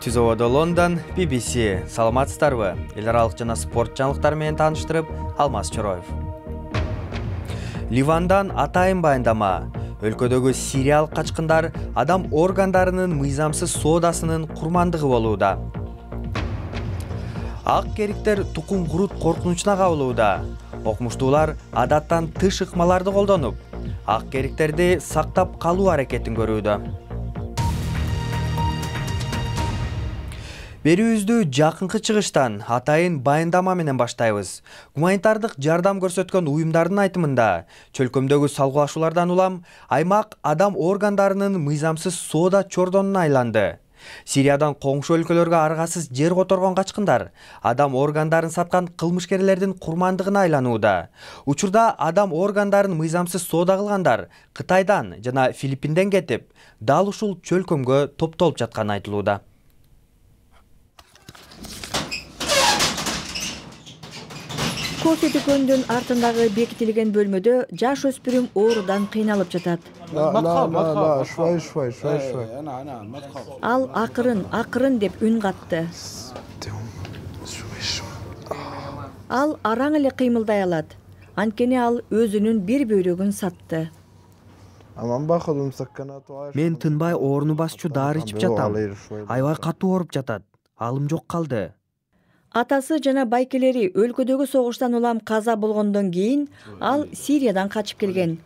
Түз абада Лондон, BBC. Саламатсыздарбы? Эл аралык жана спорт жаңылыктары менен тааныштырып, Алмаз Чороев. Ливандан атайын баяндама. Өлкөдөгү сириялык качкындар адам органдарынын мыйзамсыз соодасынын курмандыгы болууда. Ак кериктер тукум курут коркунучуна кабылууда. Окумуштуулар адаттан тыш ыкмаларды колдонуп, ак кериктерди сактап калуу аракетин көрүүдө. Берүүбүздү жакынкы чыгыштан атайын баяндама менен баштайбыз. Гуманитардык жардам көрсөткөн уюмдардын айтымында, чөлкөмдөгү салгылашуулардан улам аймак адам органдарынын мыйзамсыз соода чордонуна айланды. Сириядан коңшу өлкөлөргө аргасыз жер которгон качкындар адам органдарын саткан кылмышкерлердин курмандыгына айланууда. Учурда адам органдарын мыйзамсыз соода кылгандар Кытайдан жана Филиппинден кетип, дал ушул чөлкөмгө топтолуп жатканы айтылууда. Кофе дүкөнүнүн артындагы бекитилген бөлмөдө жаш өспүрүм оорудан кыйналып жатат. Ал акырын деп үн катты. Ал араң эле кыймылдай алат. Анткени ал өзүнүн бир бөлүгүн сатты. Мен тынбай ооруну басчу дары ичип жатам. Аябай катуу ооруп жатат. Алым жок калды. Атасы жана байкелери өлкөдөгү согуштан улам каза болгондон кийин ал Сириядан качып келген.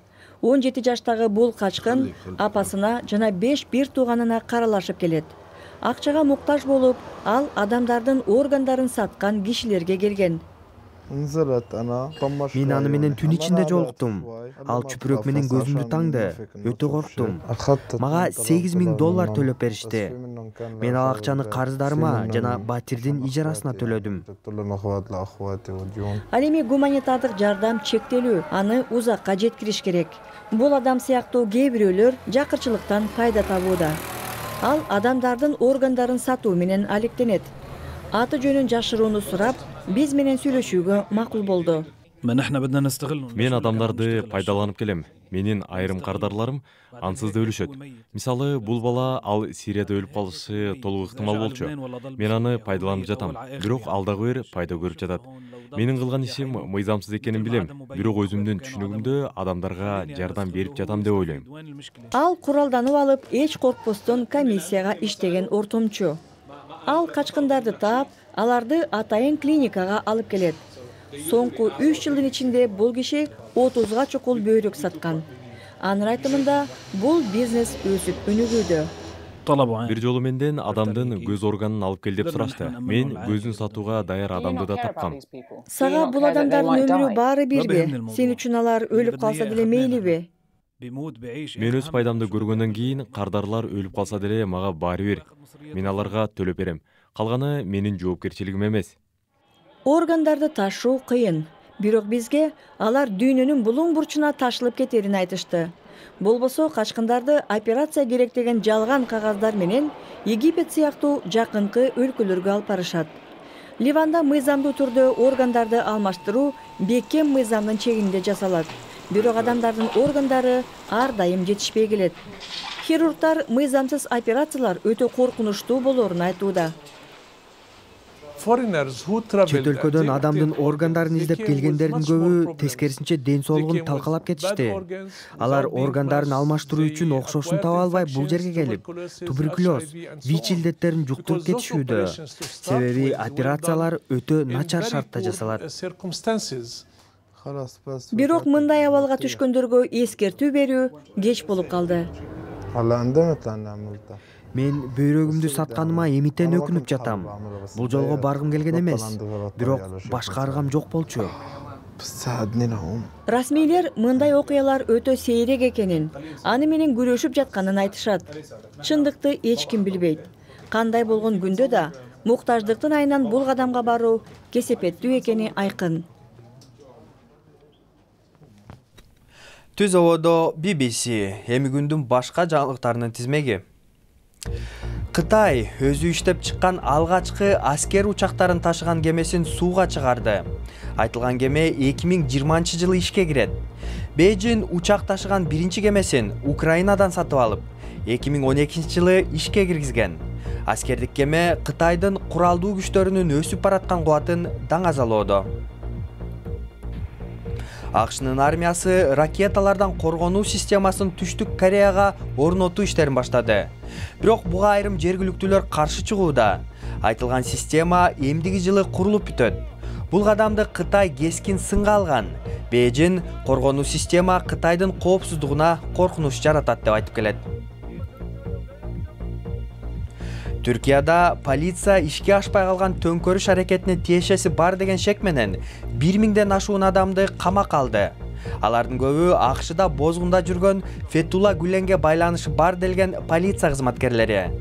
17 жаштагы бул качкын апасына жана 5 бир тууганына каралашып келет. Акчага муктаж болуп, ал адамдардын органдарын саткан кишилерге келген. Мен аны менен түн ичинде жолуктум. Ал чүпүрөк менен көзүмдү таңды. Өтө корктум. Мага $8,000 төлөп беришти. Мен ал акчаны карыздарыма жана батирдин ижарасына төлөдүм. Ал эми гуманитардык жардам чектелүү, аны узакка жеткириш керек. Бул адам сыяктуу кээ бирөөлөр жакырчылыктан пайда табууда. Ал адамдардын органдарын сатуу менен алектенет. Аты жөнүн жашырууну сурап, биз менен сүйлөшүүгө макул болду. Мен адамдарды пайдаланып келем. Менин айрым кардарларым ансыз да өлүшөт. Мисалы, бул бала ал Сирияда өлүп калышы толук ыктымал болчу. Мен аны пайдаланып жатам. Бирок ал дагы бир пайда көрүп жатат. Менин кылган ишим мыйзамсыз экенин билем. Бирок өзүмдүн түшүнүгүмдө адамдарга жардам берип жатам деп ойлойм. Ал куралданып алып, эч коркпостон комиссияга иштеген ортомчу. Ал качкындарды таап, аларды атайын клиникага алып келет. Соңку 3 жылдын ичинде бул киши 30га чукул бөйрөк саткан. Анын айтымында бул бизнес өсүп өнүгүүдө. Бир жолу менден адамдын көз органын алып кел деп сурашты. Мен көзүн сатууга даяр адамды да тапкам. Сага бул адамдардын өмүрү баары бирби? Сен үчүн алар өлүп калса деле мейлиби? Мен өз пайдамды көргөндөн кийин кардарлар өлүп калса деле мага баары бир. Мен аларга төлөп берем. Калганы менин жоопкерчилигим эмес. Органдарды ташуу кыйын, бирок бизге алар дүйнөнүн булуң бурчуна ташылып кетерин айтышты. Болбосо качкындарды операция керек деген жалган кагаздар менен Египет сыяктуу жакынкы өлкөлөргө алып барышат. Ливанда мыйзамдуу түрдө органдарды алмаштыруу бекем мыйзамдын чегинде жасалат. Бирок адамдардын органдары ар дайым жетишпей келет. Хирургдар мыйзамсыз операциялар өтө коркунучтуу болоорун айтууда. Чет өлкөдөн адамдын органдарын издеп келгендердин көбү тескерисинче ден соолугун талкалап кетишти. Алар органдарын алмаштыруу үчүн окшошун таба албай бул жерге келип, туберкулез, ВИЧ илдеттерин жуктуруп кетишүүдө. Себеби операциялар өтө начар шартта жасалат. Бирок мындай абалга түшкөндөргө эскертүү берүү кеч болуп калды. Мен бөйрөгүмдү сатканыма эмитен өкүнүп жатам. Бул жолго баргым келген эмес, бирок башка аргам жок болчу. Расмийлер мындай окуялар өтө сейрек экенин, аны менен күрөшүп жатканын айтышат. Чындыкты эч ким билбейт. Кандай болгон күндө да муктаждыктын айынан бул кадамга баруу кесепеттүү экени айкын. Түз абада BBC, эми күндүн башка жаңылыктарынын тизмеги. Кытай өзү иштеп чыккан алгачкы аскер учактарын ташыган кемесин сууга чыгарды. Айтылган кеме 2020-жылы ишке кирет. Бейжин учак ташыган биринчи кемесин Украинадан сатып алып, 2012-жылы ишке киргизген. Аскердик кеме Кытайдын куралдуу күчтөрүнүн өсүп бараткан кубатын даңазалоодо. АКШнын армиясы ракеталардан коргонуу системасын Түштүк Кореяга орнотуу иштерин баштады. Бирок буга айрым жергиликтүүлөр каршы чыгууда. Айтылган система эмдиги жылы курулуп бүтөт. Бул кадамды Кытай кескин сынга алган. Бээжин коргонуу система Кытайдын коопсуздугуна коркунуч жаратат деп айтып келет. Түркияда полиция ишке ашпай калган төңкөрүш аракетине тиешеси бар деген шек менен 1000ден ашуун адамды камакка алды. Алардын көбү АКШда бозгунда жүргөн Фетулла Гүленге байланышы бар делген полиция кызматкерлери.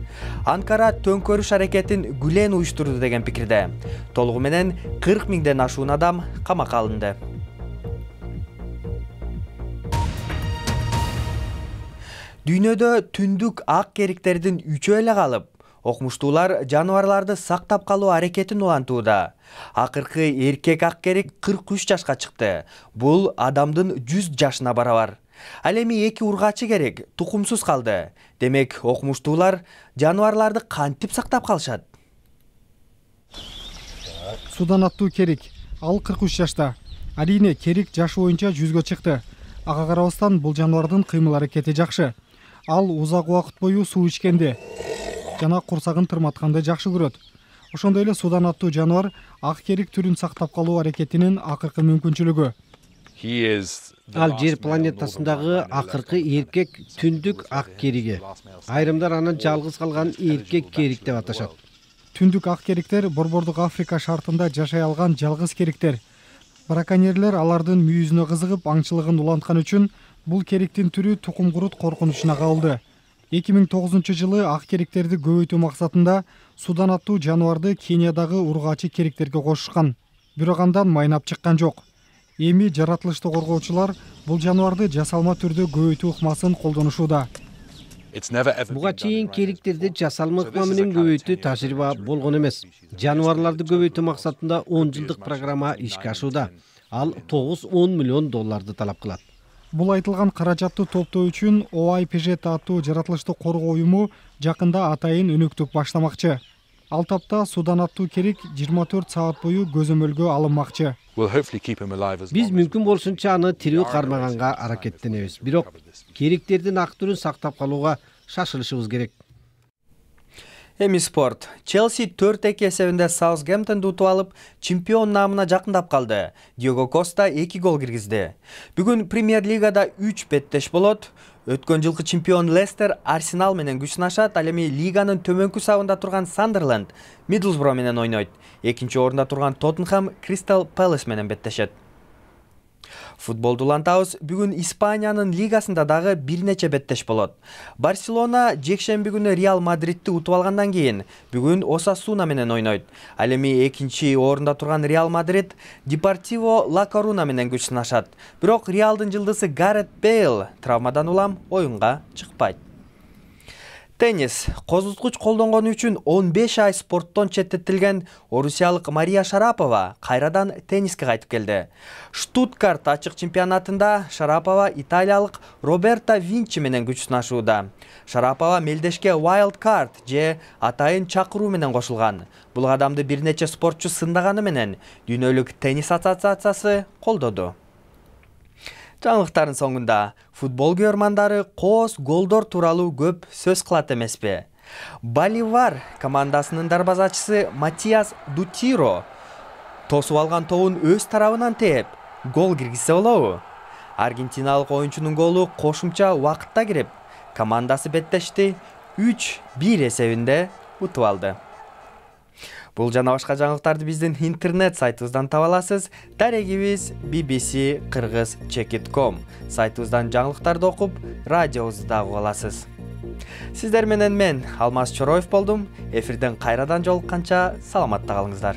Анкара төңкөрүш аракетин Гүлен уюштурду деген пикирде. Толугу менен 40 000ден ашуун адам камакка алынды. Дүйнөдө түндүк ак кериктердин 3-өө эле калып, окумуштуулар жаныбарларды сактап калуу аракетин улантууда. Акыркы эркек ак керик 43 жашка чыкты. Бул адамдын 100 жашына барабар. Ал эми 2 ургачы керик тукумсуз калды. Демек, окумуштуулар жаныбарларды кантип сактап калышат? Судан аттуу керик, ал 43 жашта. Арийне керик жашы боюнча 100гө чыкты. Ага карабастан бул жаныбардын кыймыл аракети жакшы. Ал узак убакыт бою суу ичкенди жана курсагын тырматканды жакшы көрөт. Ошондой эле судан аттуу жаныбар ак керик түрүн сактап калуу аракетинин акыркы мүмкүнчүлүгү. Ал жер планетасындагы акыркы эркек түндүк ак кериги. Айрымдар аны жалгыз калган эркек керик деп аташат. Түндүк ак кериктер Борбордук Африка шартында жашай алган жалгыз кериктер. Браконьерлер алардын мүйүзүнө кызыгып аңчылыгын уланткан үчүн бул кериктин түрү тукум курут коркунучуна кабылды. 2009-жылы ак кериктерди көбөйтүү максатында судан аттуу жаныбарды Кениядагы ургачы кериктерге кошушкан. Бирок андан майнап чыккан жок. Эми жаратылышты коргоочулар бул жаныбарды жасалма түрдө көбөйтүү ыкмасын колдонушууда. Буга чейин кериктерди жасалма ыкма менен көбөйтүү тажрыйба болгон эмес. Жаныбарларды көбөйтүү максатында 10 жылдык программа ишке ашууда. Ал $9-10 миллион талап кылат. Бул айтылган каражатты топтоо үчүн OIPJ аттуу жаратылышты коргоо уюму жакында атайын өнөктүк баштамакчы. Ал тапта судан аттуу керик 24 саат бою көзөмөлгө алынмакчы. Биз мүмкүн болушунча аны тирүү кармаганга аракеттенебиз. Бирок кериктердин ак түрүн сактап калууга шашылышыбыз керек. Эми спорт. Челси 4-2 эсебинде Саутгемптонду утуп алып, чемпион наамына жакындап калды. Диего Коста 2 гол киргизди. Бүгүн Премьер-лигада 3 беттеш болот. Өткөн жылкы чемпион Лестер Арсенал менен күч сынашат. Ал эми лиганын төмөнкү сабында турган Сандерленд Мидлсбро менен ойнойт. Экинчи орунда турган Тоттенхэм Кристал Пэлас менен беттешет. Футболду улантабыз. Бүгүн Испаниянын лигасында дагы бир нече беттеш болот. Барселона жекшемби күнү Реал Мадридти утуп алгандан кийин бүгүн Осасуна менен ойнойт. Ал эми экинчи орунда турган Реал Мадрид Депортиво Ла Коруна менен күч сынашат. Бирок Реалдын жылдызы Гарет Бейл травмадан улам оюнга чыкпайт. Теннис. Козуткуч колдонгону үчүн 15 ай спорттон четтетилген орусиялык Мария Шарапова кайрадан тенниске кайтып келди. Штутгарт ачык чемпионатында Шарапова италиялык Роберта Винчи менен күч сынашууда. Шарапова мелдешке Wild Card же атайын чакыруу менен кошулган. Бул кадамды бир нече спортчу сындаганы менен Дүйнөлүк теннис ассоциациясы колдоду. Жаңылыктардын соңунда футбол көрмандары коос голдор тууралуу көп сөз кылат эмеспи? Боливар командасынын дарбазачысы Матиас Дутиро тосуп алган тобун өз тарабынан тээп гол киргизсе болобу? Аргентиналык оюнчунун голу кошумча убакытта кирип, командасы беттешти 3-1 эсебинде утуп алды. Бул жана башка жаңылыктарды биздин интернет сайтыбыздан таба аласыз. Дарегибиз bbc-kyrgyz.com сайтыбыздан жаңылыктарды окуп, радиобузду дагы уга аласыз. Сиздер менен мен Алмаз Чороев болдум. Эфирден кайрадан жолукканча саламатта калыңыздар.